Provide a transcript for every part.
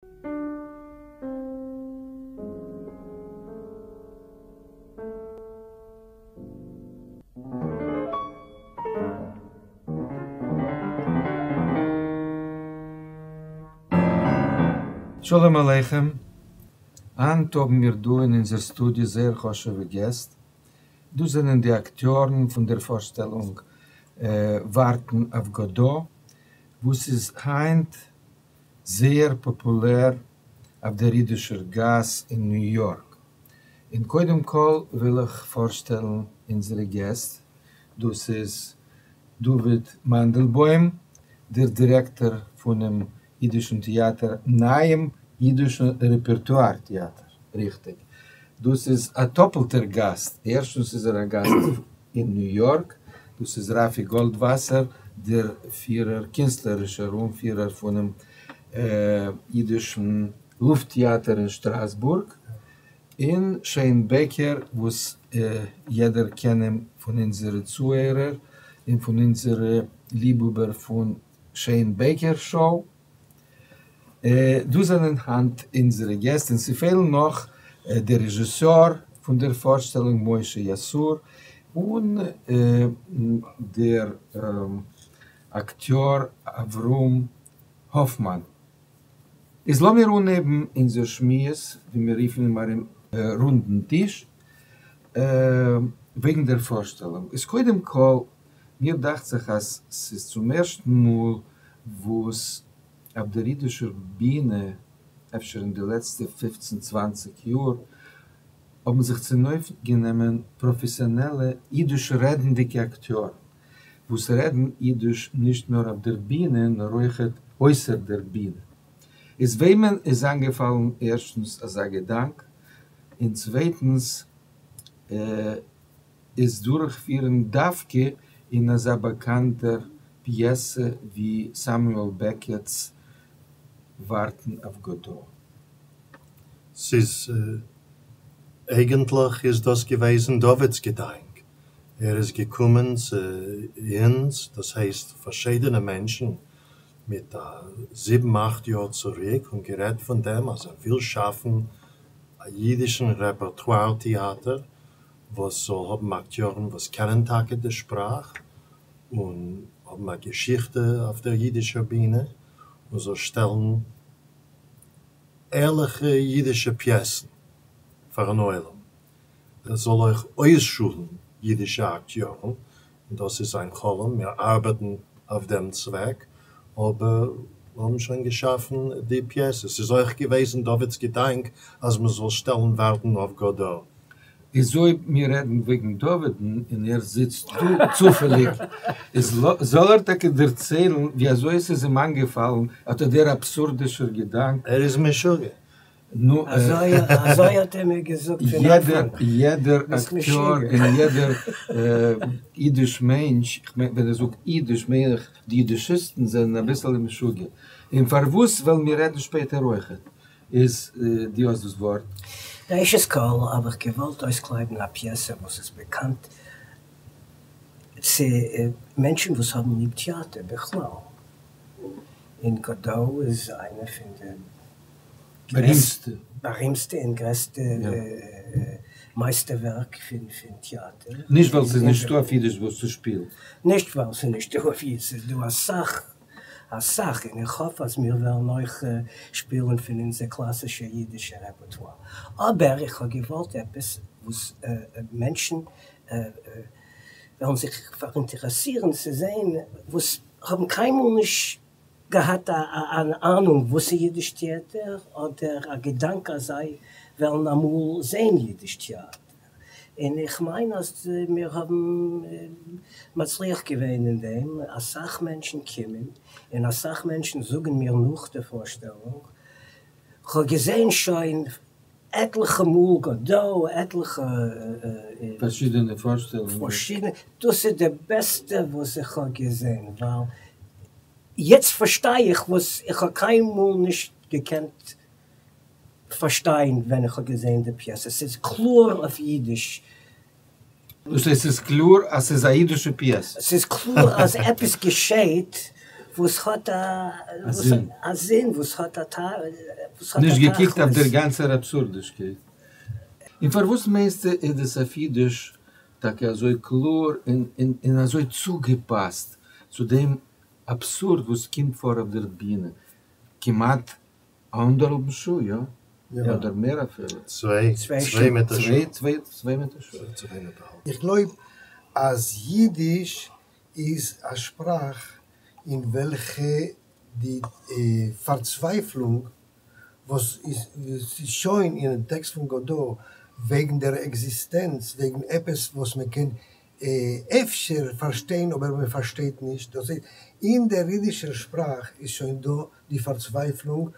שלום עליכם, היינט האבן מיר דא אין אונזער סטודיא זייער חשוב'ע געסט, דאס זענען די אקטיארן פון דער פארשטעלונג ווארטן אויף גאדא, וואס איז היינט זייער פאפולער אויף דער אידישער גאס אין ניו יארק. און קודם כל וויל איך פארשטעלן אונזערע געסט, דאס איז דוד מאנדלבוים, דער דירעקטאר פונעם אידישן טעאטער, נייעם אידישן רעפערטואר טעאטער, ריכטיג, דאס איז א טאפלטער גאסט, ערשטנס איז ער א גאסט אין ניו יארק, דאס איז רפי גאלדוואסער, דער פירער, קינסטלערישער אנפירער פונעם אידישן לופט טעאטער אין שטראסבורג, און שיין בעקער וואס יעדער קען אים פון אונזערע צוהערער און פון אונזערע ליבהאבער פון שיין בעקער שאו. דאס זענען היינט אונזערע געסט און ס'פעלן נאך דער רעזשיסאר פון דער פארשטעלונג משה יסעור און דער אקטיאר אברהם האפמאן. איז לאמיר אנהייבן אונזער שמועס, ווי מיר רופן אים ארום רונדן טיש, וועגן דער פארשטעלונג. איז קודם כל, מיר דאכט זיך אז ס'איז צום ערשטן מאל וואס אויף דער אידישער בינע, אפשר אין די לעצטע פופצן צוואנציג יאר, האבן זיך צונויפגענומען פראפעסיאנעלע אידיש רעדנדיגע אקטיארן, וואס רעדן אידיש נישט נאר אויף דער בינע נאר אויכעט אויסער דער בינע. איז וועמען איז איינגעפאלן ערשטנס אזא געדאנק, און צווייטנס עס דורכפירן דווקא אין אזא באקאנטער פיעסע ווי סעמיועל בעקעט'ס ווארטן אויף גאדא? ס'איז אייגענטליך איז דאס געוועזן דוד'ס געדאנק, ער איז געקומען צו אונז, דאס הייסט פארשידענע מענטשן, מיט א זיבן אכט יאר צוריק און גערעדט פון דעם אז ער וויל שאפן א אידישן רעפערטואר טעאטער וואס זאל האבן אקטיארן וואס קענען טאקע די שפראך און האבן א געשיכטע אויף דער אידישער בינע און זאל שטעלן ערליכע אידישע פיעסן פארן עולם. ער זאל אויך אויסשולן אידישע אקטיארן, און דאס איז זיין חלום, מיר ארבעטן אויף דעם צוועק, אבער מיר האבן שוין געשאפן די פיעסע, ס'איז אויך געוועזן דוד'ס געדאנק אז מען זאל שטעלן ווארטן אויף גאדא. איז אויב מיר רעדן וועגן דוד'ן און ער זיצט דא צופעליג, איז זאל ער טאקע דערציילן ווי אזוי עס איז אים איינגעפאלן אט דער אבסורדישער געדאנק. ער איז משוגע. נו, אזוי האט ער מיר געזאגט פון אנפאנג. יעדער אקטיאר און יעדער אידיש מענטש, כ'מיין ווען איך זאג אידיש מיין איך די אידישיסטן זענען אביסעלע משוגע, און פארוואס וועלן מיר רעדן שפעטער אויכעט, איז דו האסט דאס ווארט. ראשית כל האב איך געוואלט אויסקלייבן א פיעסע וואס איז באקאנט צו מענטשן וואס האבן ליב טעאטער בכלל, און גאדא איז איינע פון די בארימסטע. בארימסטע און גרעסטע מייסטערווערק פון טעאטער. נישט ווייל ס'איז נישטא אויף אידיש וואס צו שפילן. נישט ווייל ס'איז נישטא אויף אידיש, ס'איז דא אסאך אסאך, און איך האף אז מיר וועלן אויך שפילן פון אונזער קלאסישע אידישע רעפערטואר. אבער איך האב געוואלט עפעס וואס מענטשן וועלן זיך פאראינטערעסירן צו זען, וואס האבן קיינמאל נישט געהאט אן אהנונג וואס איז אידיש טעאטער, אדער א געדאנק אז זיי וועלן אמאל זען אידיש טעאטער, און איך מיין אז מיר האבן מצליח געווען אין דעם, אסאך מענטשן קומען, און אסאך מענטשן זאגן מיר נאך די פארשטעלונג, כ'האב געזען שוין עטליכע מאל גאדא, עטליכע פארשידענע פארשטעלונגען. פארשידענע, דאס איז די בעסטע וואס איך האב געזען, ווייל יעצט פארשטיי איך וואס איך האב קיינמאל נישט געקענט פארשטיין ווען איך האב געזען די פיעסע, ס'איז קלאר אויף אידיש. דאס הייסט ס'איז קלאר אז ס'איז א אידישע פיעסע? ס'איז קלאר אז עפעס געשעהט. וואס האט א זין, וואס האט א תכלית. נישט געקוקט אויף דער גאנצער אבסורדישקייט. און פארוואס מיינסטו איז דאס אויף אידיש טאקע אזוי קלאר און אזוי צוגעפאסט צו דעם אבסורד וואס קומט פאר אויף דער בינע כמעט אנדערהאלבן שעה, יא? אדער מער אפילו. צוויי, צוויי מיט א שעה. צוויי מיט א שעה. צוויי מיט א האלב. איך גלויב אז אידיש איז א שפראך אין וועלכע די פארצווייפלונג וואס איז שוין אינעם טעקסט פון גאדא וועגן דער עקזיסטענץ, וועגן עפעס וואס מען קען אפשר פארשטיין אבער מען פארשטייט נישט, דאס הייסט אין דער אידישער שפראך איז שוין דא די פארצווייפלונג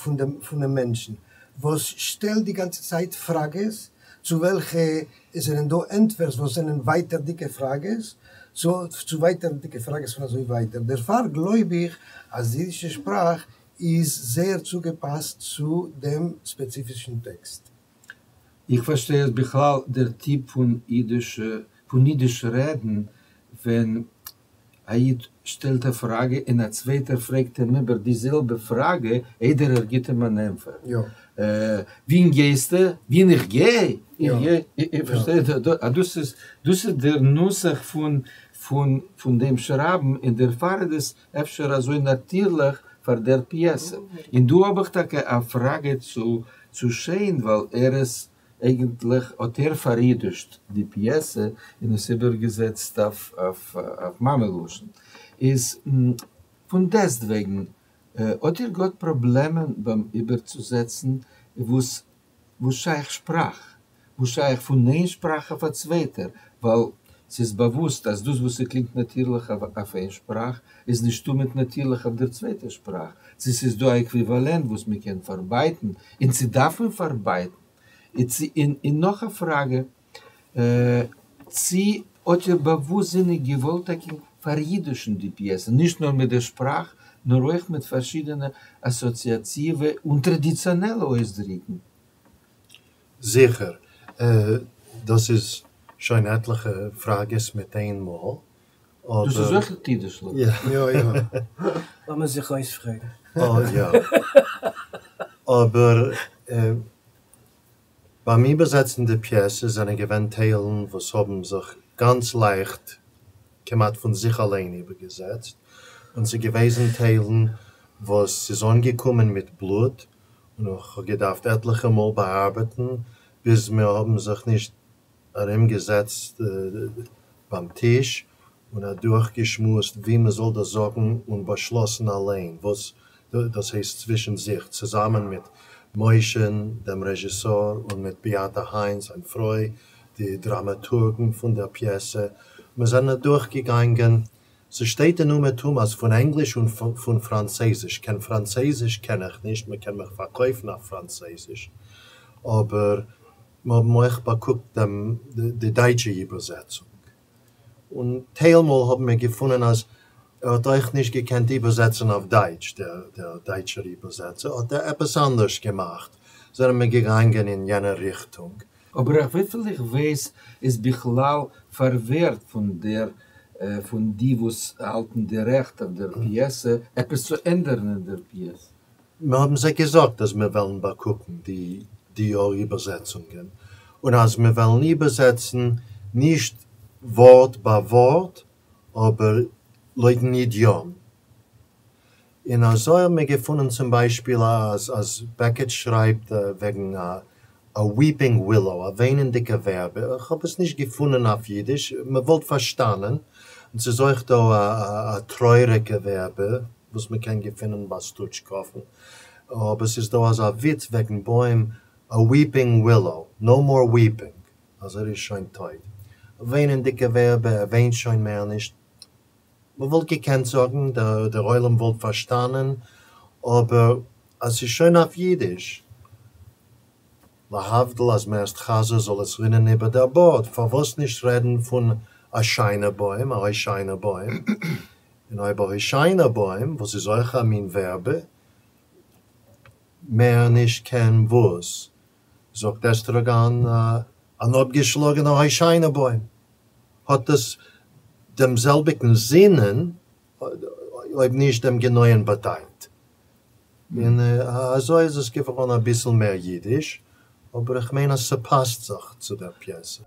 פון דעם מענטשן וואס שטעלט די גאנצע צייט פראגעס צו וועלכע עס זענען דא ענטפערס וואס זענען ווייטערדיגע פראגעס צו ווייטערדיגע פראגעס און אזוי ווייטער, דערפאר גלויב איך אז די אידישע שפראך איז זייער צוגעפאסט צו דעם ספעציפישן טעקסט. איך פארשטיי אז בכלל דער טיפ פון אידישע פון אידיש רעדן ווען א איד שטעלט א פראגע און א צווייטער פרעגט אים איבער די זעלבע פראגע איידער ער גיט אים אן ענפער. וואוהין גייסטו? וואוהין איך גיי? איך גיי. איר פארשטייט? דאס איז דאס איז דער נוסח פון פון פון דעם שרייבן און דערפאר איז עס אפשר אזוי נאטירליך פאר דער פיעסע. און דא האב איך טאקע א פראגע צו צו שיין ווייל ער איז אייגנטליך האט ער פאראידישט די פיעסע און עס איבערגעזעצט אויף אויף מאמע לשון. איז פון דעסטוועגן האט איר געהאט פראבלעמען ביים איבערצוזעצן וואס וואס שייך שפראך, וואס שייך פון איין שפראך אויף א צווייטער, ווייל ס'איז באוואוסט אז דאס וואס ס'קלינגט נאטירליך אויף איין שפראך איז נישט תמיד נאטירליך אויף דער צווייטער שפראך, צו ס'איז דא א עקוויוואלענט וואס מ'קען פארבייטן, און צו דארף מען פארבייטן, און נאך א פראגע, צו האט איר באוואוסטזיניג געוואלט טאקע פאראידישן די פיעסע, נישט נאר מיט דער שפראך, נאר אויך מיט פארשידענע אסאציאטיווע און טראדיציאנעלע אויסדריקן? זיכער. דאס איז שוין עטליכע פראגעס מיט איין מאל. דאס איז אויך אידישליך. יא יא. לאמיר זיך אויספרעגן. יא. אבער ביים איבערזעצן די פיעסע זענען געווען טיילן וואס האבן זיך גאנץ לייכט, כמעט פון זיך אליין איבערגעזעצט, און ס'איז געוועזן טיילן וואס ס'איז אנגעקומען מיט בלוט, און איך האב געדארפט עטליכע מאל באארבעטן ביז מיר האבן זיך נישט ארומגעזעצט ביים טיש און אדורכגעשמועסט ווי מען זאל דאס זאגן און באשלאסן אליין וואס דאס הייסט צווישן זיך, צוזאמען מיט משה'ן דעם רעזשיסאר און מיט ביאטע היין זיין פרוי די דראמאטורגן פון דער פיעסע, מיר זענען אדורכגעגאנגען, ס'שטייט אין אומעטום אז פון ענגליש און פון פראנצייזיש, קיין פראנצייזיש קען איך נישט, מען קען מיך פארקויפן אויף פראנצייזיש, אבער מיר האבן אויך באקוקט דעם די דייטשע איבערזעצונג, און טיילמאל האבן מיר געפונען אז ער האט אויך נישט געקענט איבערזעצן אויף דייטש, דער דער דייטשער איבערזעצער האט ער עפעס אנדערש געמאכט, זענען מיר געגאנגען אין יענע ריכטונג. אבער אויף וויפיל איך ווייס איז בכלל פארווערט פון דער פון די וואס האלטן די רעכט אויף דער פיעסע עפעס צו ענדערן אין דער פיעסע. מיר האבן זיי געזאגט אז מיר וועלן באקוקן די די איבערזעצונגען, און אז מיר וועלן איבערזעצן נישט ווארט ביי ווארט, אבער לויטן אידיאם. און אזוי האבן מיר געפונען צום ביישפיל אז אז בעקעט שרייבט וועגן א א weeping willow, א וויינענדיגע ווערבע, איך האב עס נישט געפונען אויף אידיש, מען וואלט פארשטאנען, און ס'איז אויך דא א א טרויעריגע ווערבע וואס מען קען געפינען ביי סטוטשקאוון, אבער ס'איז דא אזא וויץ וועגן בוים, a weeping willow, no more weeping, אז ער איז שוין טויט. א וויינענדיגע ווערבע, ער וויינט שוין מער נישט. מען וואלט געקענט זאגן, דער עולם וואלט פארשטאנען, אבער אז ס'איז שוין אויף אידיש, להבדיל אז מ'עסט חזיר זאל עס רינען איבער דער בארד, פארוואס נישט רעדן פון א שיינע בוים, א הושענא בוים, און אויב א הושענא בוים, וואס איז אויך א מין ווערבע, מער נישט קיין וואס, זאגט עסטראגאן, אן אפגעשלאגענער הושענא בוים, האט עס דעם זעלביגן זינען. אויב נישט דעם גענויען באדייט. און אזוי איז עס געווארן אביסל מער אידיש, אבער איך מיין אז ס'פאסט זיך צו דער פיעסע.